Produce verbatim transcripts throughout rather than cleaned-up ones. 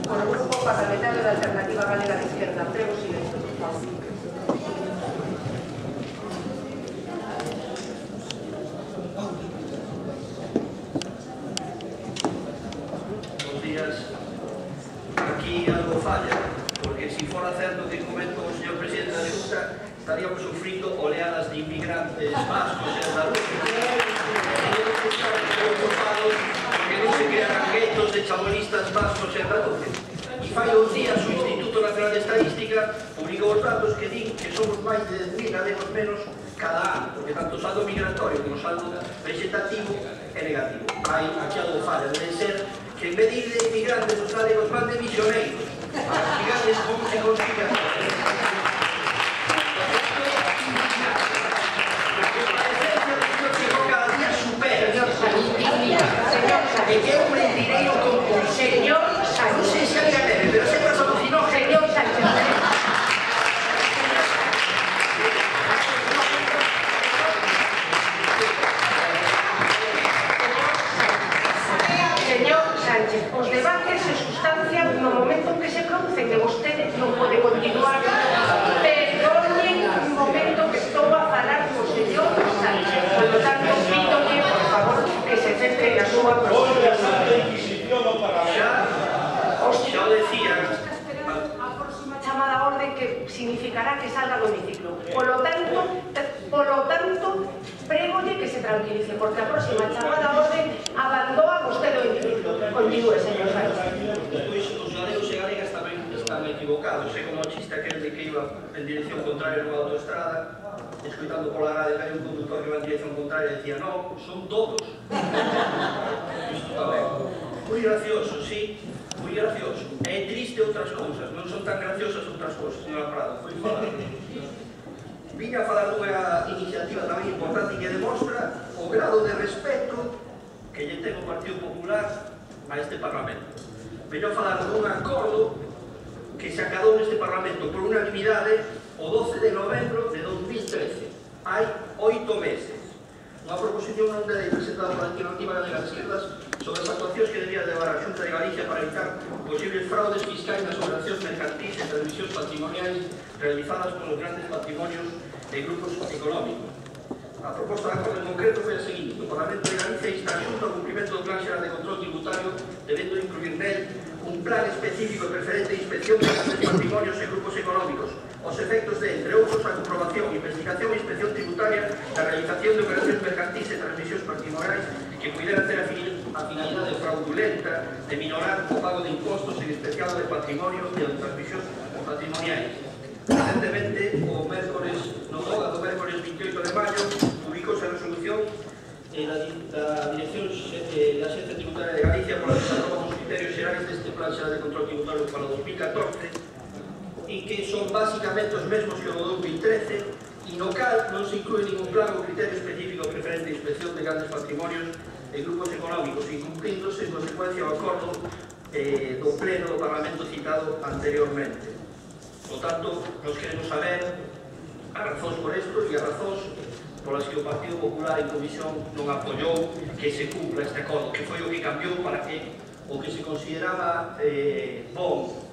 Por o Grupo Parlamentario da Alternativa Galega de Izquierda. Prego silencio, por favor. Bos días. Aquí algo falla, porque se fora certo que comento o señor Presidente da Xunta, estaríamos sufrindo oleadas de inmigrantes vascos en Andaluz. Teníamos que estar preocupados porque non se crearan guetos de chabolistas vascos en Andaluz. E fai uns días o Instituto Nacional de Estadística publicou os datos que din que somos máis de dez mil galegos menos cada ano, porque tanto o saldo migratorio como o saldo vegetativo é negativo. Hai aquí algo falla, debe ser que en vez de ir de inmigrantes os galegos van de misioneiros a inmigrantes con e consigan e que é un mentireiro con consello. Non sei se hai galera, pero se pasa por si non, señor Sánchez. Señor Sánchez, os debates se sustancian no momento en que se producen e vostede non pode continuar. Perdonen un momento que estou a falar co señor Sánchez. Por lo tanto, pídolle, por favor, que se centre na súa proposición. Xa o decían. A próxima chamada a orde que significará que salga do hemiciclo. Polo tanto, polo tanto, prégolle que se tranquilice, porque a próxima chamada a orde abandoa vostede o hemiciclo. Continúe, señor Sánchez. Pois os galegos e galegas tamén están equivocados. É como o chiste aquel de que iba en dirección contraria nunha autoestrada, escoitando pola radio que hai un conductor que va en dirección contraria e decía, no, son todos. Isto tamén. Moi gracioso, sí, moi gracioso. É triste outras cousas, non son tan graciosas outras cousas, señora Prado, foi falar. Viña a falar dunha iniciativa tamén importante que demostra o grado de respeto que lle ten o Partido Popular a este Parlamento. Veño a falar dun acordo que se acadou neste Parlamento por unanimidade o doce de novembro de dos mil trece. Hai oito meses. Unha proposición non de lei presentada pola Alternativa Galega de Izquierdas sobre as actuacións que debía levar a Xunta de Galicia para evitar posibles fraudes fiscais nas operacións mercantis e transmisións patrimoniais realizadas polos grandes patrimonios de grupos económicos. A proposta de acordo en concreto foi a seguinte: o Parlamento de Galicia insta a Xunta ao cumprimento do Plan Xeral de Control Tributario, debendo incluir nel un plan específico e preferente de inspección de grandes patrimonios e grupos económicos, os efectos de, entre outros, a comprobación, investigación e inspección tributaria da realización de operacións mercantis e transmisións patrimoniais que puderan ter a finalidade fraudulenta de minorar o pago de impostos, en especial de patrimonio e de transmisións patrimoniais. Recentemente, o mércores, no Boga do mércores veintioito de maio, publicouse a resolución da Dirección da Axencia Tributaria de Galicia por la desaproba dos criterios xerais deste Plan Xeral de Control Tributario para o dos mil catorce, e que son basicamente os mesmos que o do dos mil trece, e no cal non se inclúe ningún plan ou criterio específico preferente de inspección de grandes patrimonios e grupos económicos, incumplíndose en consecuencia o acordo eh, do pleno do Parlamento citado anteriormente. Por tanto, nos queremos saber as razóns por isto e as razóns polas que o Partido Popular en comisión non apoiou que se cumpla este acordo, que foi o que cambiou para que o que se consideraba eh, bom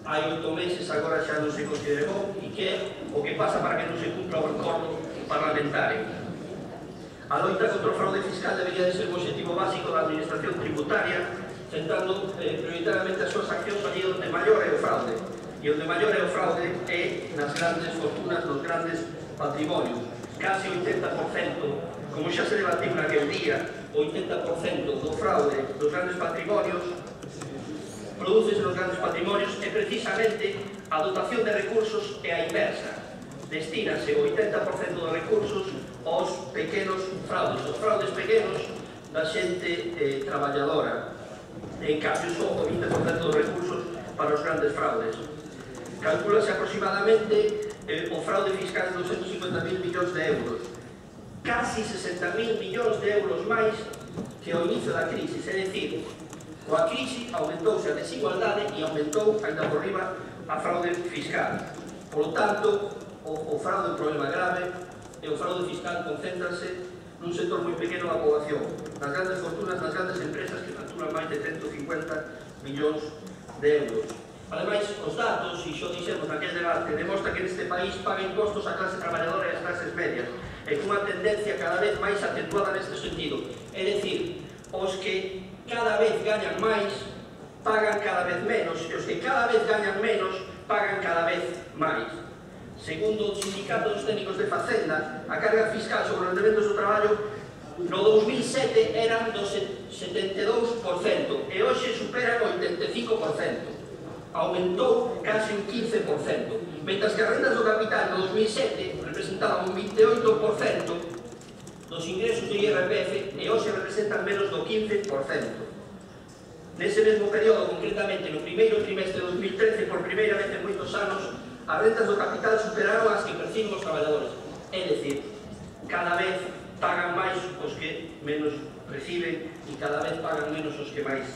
hai oito meses agora xa non se considere bom, e que é o que pasa para que non se cumpla o acordo parlamentario. A loita contra o fraude fiscal debería de ser o objetivo básico da administración tributaria, centrando eh, prioritariamente as súas accións allí onde maior é o fraude, e onde maior é o fraude é nas grandes fortunas, nos grandes patrimonios. Casi o oitenta por cento, como xa se debatiu naquel día, o oitenta por cento do fraude dos grandes patrimonios produces nos grandes patrimonios e precisamente a dotación de recursos é a inversa. Destínase o oitenta por cento dos recursos aos pequenos fraudes, os fraudes pequenos da xente eh, traballadora. En cambio, só o vinte por cento dos recursos para os grandes fraudes. Calculase aproximadamente eh, o fraude fiscal de doscientos cincuenta mil millóns de euros. Casi sesenta mil millóns de euros máis que ao inicio da crise. É dicir, coa crise aumentouse a desigualdade e aumentou, ainda por riba, a fraude fiscal. Por lo tanto, o, o fraude é un problema grave e o fraude fiscal concéntrase nun sector moi pequeno da poboación, nas grandes fortunas, nas grandes empresas que facturan máis de ciento cincuenta millóns de euros. Ademais, os datos, e xo dixemos naquele debate, demostra que neste país paga impostos a clase traballadora e as clases medias, e cunha tendencia cada vez máis acentuada neste sentido. É dicir, os que cada vez gañan máis pagan cada vez menos, e os que cada vez gañan menos pagan cada vez máis. Segundo o Sindicato dos Técnicos de Facenda, a carga fiscal sobre os rendementos do traballo no dos mil sete eran do setenta e dous por cento e hoxe supera o oitenta e cinco por cento. Aumentou casi un quince por cento, mentras que as rendas do capital no dos mil sete representaban un vinte e oito por cento dos ingresos do I R P F e hoxe representan menos do quince por cento. Nese mesmo período, concretamente no primeiro trimestre de dos mil trece, por primeira vez en moitos anos, as rendas do capital superaron as que perciben os traballadores. É dicir, cada vez pagan máis os que menos reciben e cada vez pagan menos os que máis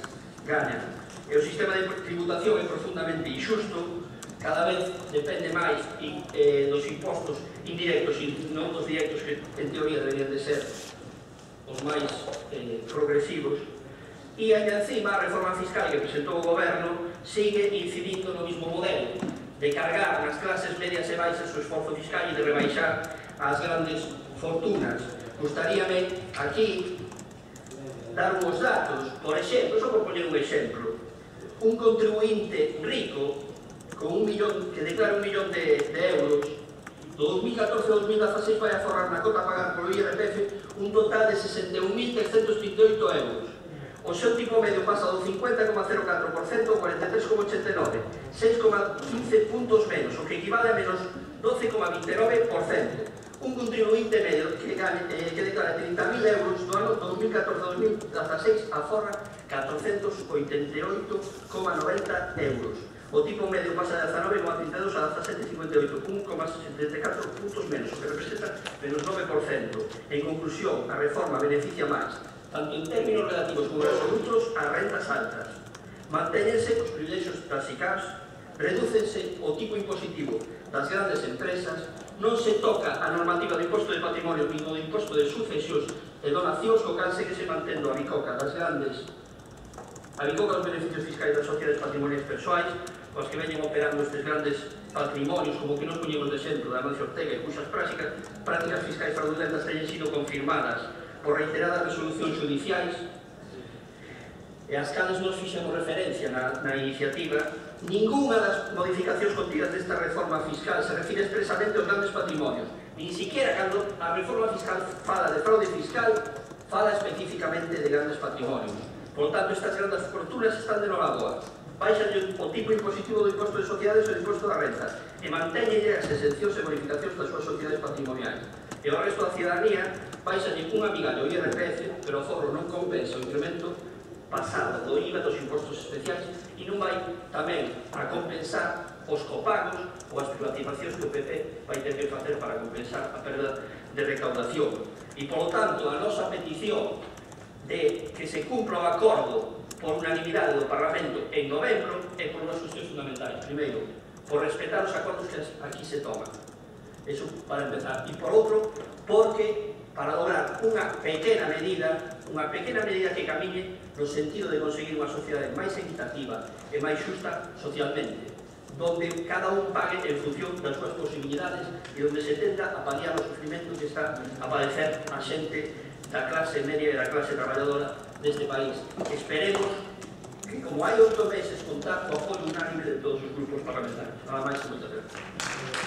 gañan. E o sistema de tributación é profundamente injusto, cada vez depende máis eh, dos impostos indirectos e non dos directos que en teoría deberían de ser os máis eh, progresivos. E ainda encima a reforma fiscal que presentou o goberno sigue incidindo no mismo modelo de cargar nas clases medias e baixas o esforzo fiscal e de rebaixar as grandes fortunas. Gustaríame aquí dar uns datos, por exemplo, só por poñer un exemplo, un contribuinte rico con un millón, que declara un millón de, de euros, do dos mil catorce ao dos mil dieciséis vai a forrar na cota a pagar polo I R P F un total de sesenta e un mil trescentos trinta e oito euros. O seu tipo medio pasa do cincuenta coma cero catro por cento ao cuarenta e tres coma ochenta e nove por cento, seis coma quince puntos menos, o que equivale a menos doce coma vinte e nove por cento. Un contribuinte medio que, gane, eh, que declara trinta mil euros no ano do dos mil catorce ao dos mil dieciséis aforra catrocentos oitenta e oito coma noventa euros. O tipo medio pasa de dezanove coma trinta e dous a dezasete coma cincuenta e oito, un coma setenta e catro puntos menos, o que representa menos nove por cento. En conclusión, a reforma beneficia máis, tanto en términos relativos como absolutos, as rentas altas. Mantéñense os privilexios das I C A Ps, redúcense o tipo impositivo das grandes empresas, non se toca a normativa do imposto de patrimonio nin do imposto de sucesións e donacións, co cal segue se mantendo a bicoca das grandes a bicoca dos beneficios fiscais das sociedades patrimoniais persoais, os que veñen operando estes grandes patrimonios, como que nos poñemos de exemplo da Amancio Ortega, e cuxas prácticas, prácticas fiscais fraudulentas teñen sido confirmadas por reiteradas resolucións judiciais, e as cales nos fixemos referencia na, na iniciativa. Ninguna das modificacións contidas desta reforma fiscal se refire expresamente aos grandes patrimonios, nin siquiera cando a reforma fiscal fala de fraude fiscal, fala especificamente de grandes patrimonios. Por tanto, estas grandes fortunas están de nova boa. Baixan o tipo impositivo do imposto de sociedades e do imposto da renta e mantéñenlle as exencións e bonificacións das súas sociedades patrimoniais. E ao resto da cidadanía baixanlle unha migallo o I R P F, pero o forro non compensa o incremento pasado do I V A dos impostos especiais e non vai tamén a compensar os copagos ou as privatizacións que o P P vai ter que facer para compensar a perda de recaudación. E, polo tanto, a nosa petición de que se cumpra o acordo por unanimidade do Parlamento en novembro é por unhas cuestións fundamentais. Primeiro, por respetar os acordos que aquí se toman. Eso para empezar. E por outro, porque para lograr unha pequena medida, unha pequena medida que camiñe no sentido de conseguir unha sociedade máis equitativa e máis xusta socialmente, donde cada un pague en función das súas posibilidades e onde se tenta a paliar o sufrimento que está a padecer a xente da clase media e da clase traballadora deste país. Esperemos que, como hai oito meses, contar co apoio unánime de todos os grupos parlamentarios. Nada máis e moitas gracias.